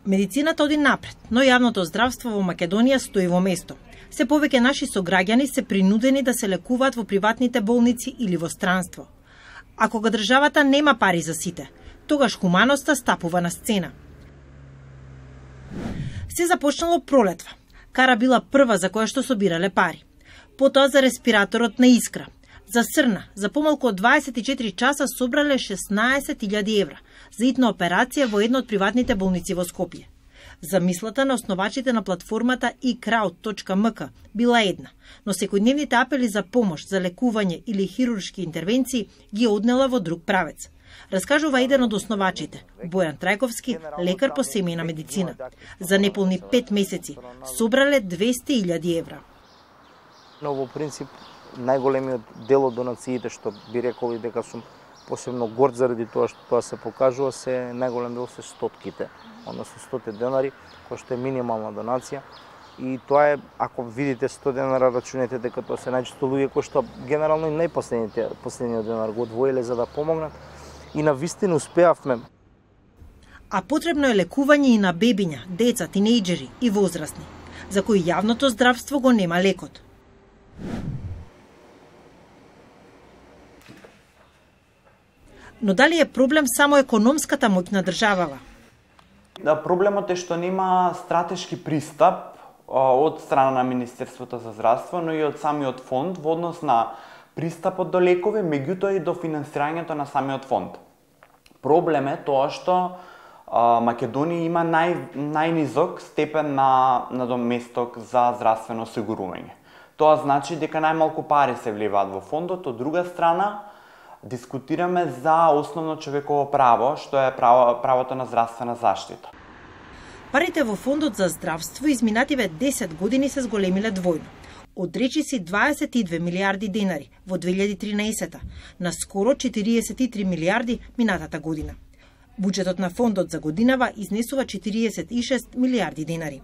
Медицината оди напред, но јавното здравство во Македонија стои во место. Се повеќе наши сограѓани се принудени да се лекуваат во приватните болници или во странство. А кога државата нема пари за сите, тогаш хуманоста стапува на сцена. Се започнало пролетва. Кара била прва за која што собирале пари. Потоа за респираторот на Искра. За Срна, за помалку од 24 часа собрале 16.000 евра за итна операција во една од приватните болници во Скопје. Замислата на основачите на платформата iCrowd.mk била една, но секојдневните апели за помош, за лекување или хируршки интервенции ги однела во друг правец. Раскажува еден од основачите, Бојан Трајковски, лекар по семејна медицина. За неполни 5 месеци собрале 200.000 евра. Но во принцип најголемиот дел од донациите, што би рекол и дека сум посебно горд заради тоа што тоа се покажува, се најголем дел се стотките, односно 100 денари, кој што е минимална донација. И тоа е, ако видите 100 денара, рачунете дека тоа се најчесто луѓе кои што генерално и најпоследниот денар го одвоиле за да помогнат и на вистина успеавме. А потребно е лекување и на бебиња, деца, тинејџери и возрастни, за кои јавното здравство го нема лекот. Но дали е проблем само економската моќ на државава? Да, проблемот е што нема стратешки пристап од страна на Министерството за здравство, но и од самиот фонд во однос на пристапот до лекови, меѓутоа и до финансирањето на самиот фонд. Проблем е тоа што Македонија има најнизок степен на доместок за здравствено осигурување. Тоа значи дека најмалку пари се вливаат во фондот, од друга страна дискутираме за основно човеково право, што е правото на здравствена заштита. Парите во фондот за здравство изминативе 10 години се зголемиле двојно. Од речиси 22 милиарди денари во 2013 на скоро 43 милиарди минатата година. Буџетот на фондот за годинава изнесува 46 милиарди денари.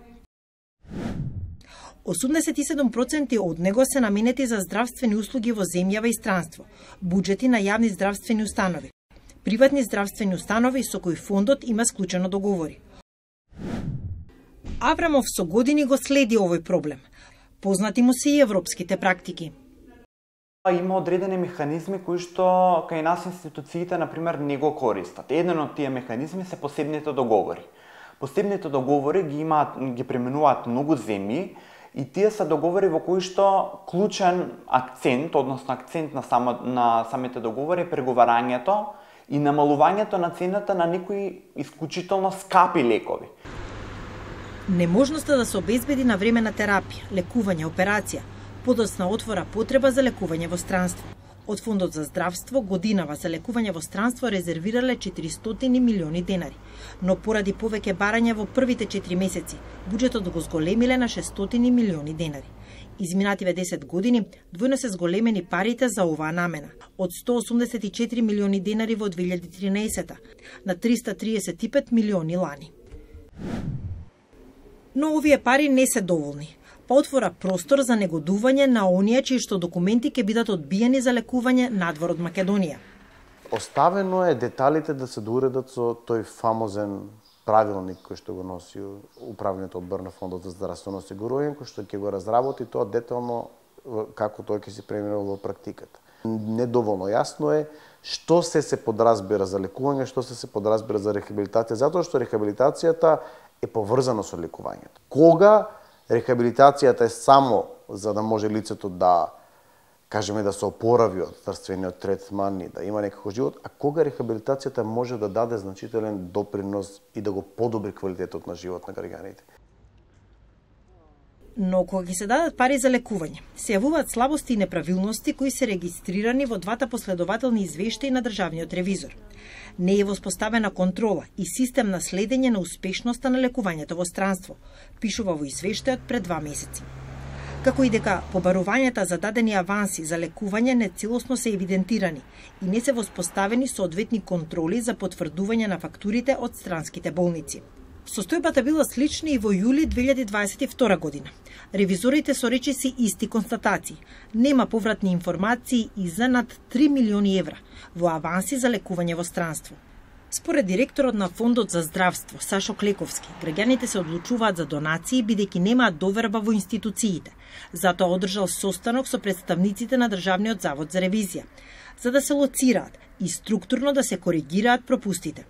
87% од него се наменети за здравствени услуги во земјава и странство, буџети на јавни здравствени установи, приватни здравствени установи со кои фондот има склучено договори. Аврамов со години го следи овој проблем. Познати му се и европските практики. Има одредени механизми кои што кај нас институциите, например, не го користат. Еден од тие механизми се посебните договори. Посебните договори ги применуваат многу земји, и тие се договори во кои што клучен акцент, односно акцент на самите договори е преговарањето и намалувањето на цената на некои исклучително скапи лекови. Неможноста да се обезбеди навремена терапија, лекување, операција, подоцна отвора потреба за лекување во странство. Од Фондот за здравство годинава за лекување во странство резервирале 400 милиони денари, но поради повеќе барања во првите 4 месеци, буџетот го зголемиле на 600 милиони денари. Изминативе 10 години двојно се зголемени парите за оваа намена, од 184 милиони денари во 2013 на 335 милиони лани. Но овие пари не се доволни, па отвора простор за негодување на оние чии што документи ќе бидат одбиени за лекување надвор од Македонија. Оставено е деталите да се доуредат со тој фамозен правилник кој што го носи управниот одбор на Фондот за здравствено осигурување, кој што ќе го разработи тоа детално како тоа ќе се преминува во практиката. Недоволно јасно е што се подразбира за лекување, што се подразбира за рехабилитација, затоа што рехабилитацијата е поврзана со лекувањето. Кога рехабилитацијата е само за да може лицето да, кажеме, да се опорави од здравствениот третман и да има некако живот, а кога рехабилитацијата може да даде значителен допринос и да го подобри квалитетот на живот на граѓаните. Но кога ги се дадат пари за лекување, се јавуваат слабости и неправилности кои се регистрирани во двата последователни извештаи на државниот ревизор. Не е воспоставена контрола и систем на следење на успешноста на лекувањето во странство, пишува во извештајот пред 2 месеци. Како и дека побарувањата за дадени аванси за лекување не целосно се евидентирани и не се воспоставени соодветни контроли за потврдување на фактурите од странските болници. Состојбата била слична и во јули 2022 година. Ревизорите со речиси исти констатации. Нема повратни информации и за над 3 милиони евра во аванси за лекување во странство. Според директорот на Фондот за здравство Сашо Клековски, граѓаните се одлучуваат за донации бидејќи немаат доверба во институциите. Затоа одржал состанок со представниците на Државниот завод за ревизија, за да се лоцираат и структурно да се коригираат пропустите.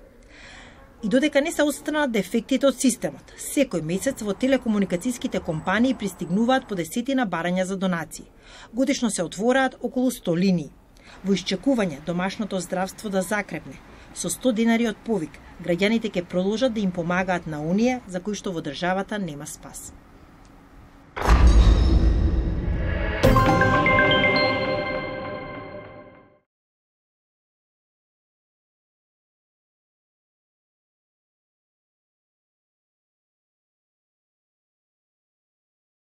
И додека не се отстранат дефектите од системот, секој месец во телекомуникацијските компании пристигнуваат по десетина барања за донации. Годишно се отвораат околу 100 линии. Во исчекување домашното здравство да закрепне, со 100 денари од повик, граѓаните ќе продолжат да им помагаат на оние за кои што во државата нема спас.